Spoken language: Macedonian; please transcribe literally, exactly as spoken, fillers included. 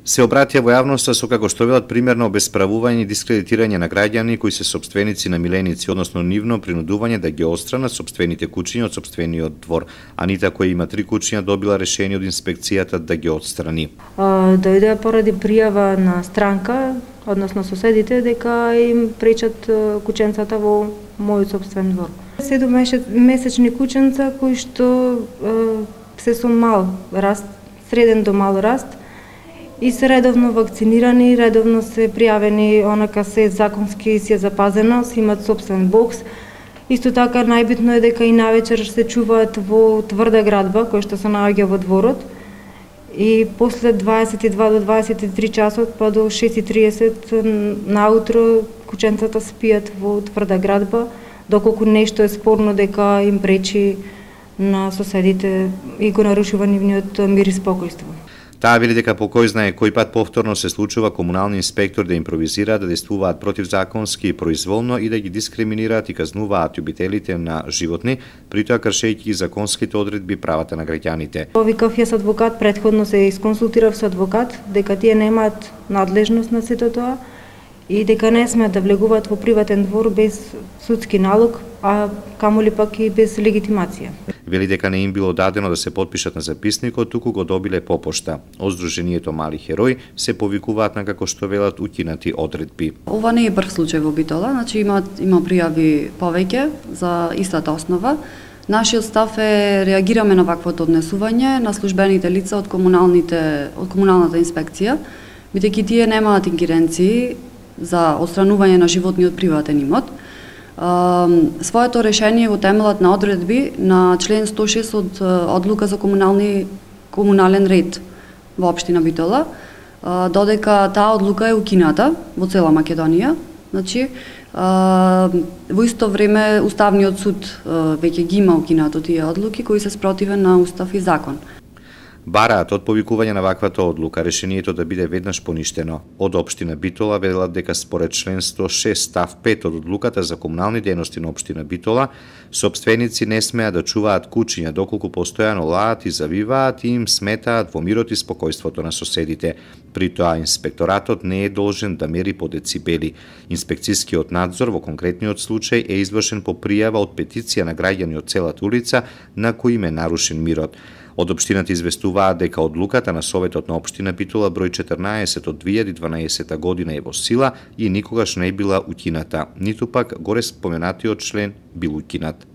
Се обратија во јавноста со како што велат примерно обесправување и дискредитирање на граѓани кои се сопственици на миленици, односно нивно принудување да ги отстранат сопствените куќиња од сопствениот двор. Анита, која има три куќиња, добила решение од инспекцијата да ги отстрани. Дојде поради пријава на странка, односно соседите, дека им пречат куќенцата во мојот сопствен двор. Седум месечни куќенца кои што се со мал раст, среден до мал раст, и се редовно вакцинирани, редовно се пријавени, онака се законски си е запазено, си имат собствен бокс. Исто така најбитно е дека и навечер се чуваат во тврда градба, која што се наоѓа во дворот. И после дваесет и два до дваесет и три часот, па до шест и триесет наутро, куќенцата спијат во тврда градба, доколку нешто е спорно дека им пречи на соседите и го нарушува нивниот мир и спокојство. Таа вели дека по кој знае кој пат повторно се случува комунални инспектори да импровизираат, да действуваат противзаконски и произволно и да ги дискриминираат и казнуваат љубителите на животни, притоа кршејќи законските одредби правата на граѓаните. Повикав јас адвокат, претходно се исконсултирав со адвокат дека тие немаат надлежност на сето тоа и дека не смеат да влегуваат во приватен двор без судски налог, а камоли пак и без легитимација. Вели дека не им било дадено да се потпишат на записникот, туку го добиле по пошта. Од Сдруженијето Мали херои се повикуваат на како што велат укинати одредби. Ова не е прв случај во Битола, значи има има пријави повеќе за истата основа. Нашиот став е реагираме на ваквото однесување на службените лица од комуналните од комуналната инспекција, бидејќи тие немаат ингеренции за отстранување на животни од приватен имот. Своето решение во темелот на одредби на член сто и шест од одлука за комунални комунален ред во општина Битола, додека таа одлука е укината во цела Македонија. Значи, во исто време Уставниот суд веќе ги има укинато тие одлуки кои се спротивен на устав и закон. Бараат од повикување на ваквата одлука решението да биде веднаш поништено. Од општина Битола велат дека според член сто и шест став пет од одлуката за комунални дејности на општина Битола, сопственици не смеат да чуваат куќиња доколку постојано лаат и завиваат и им сметаат во мирот и спокојството на соседите. При тоа инспекторатот не е должен да мери по децибели. Инспекцијскиот надзор во конкретниот случај е извршен по пријава од петиција на граѓани од целата улица на кои им е нарушен мирот. Од општината известуваат дека одлуката на Советот на општина Битола број четрнаесет од две илјади и дванаесета година е во сила и никогаш не е била укината, ниту пак горе споменатиот член бил укинат.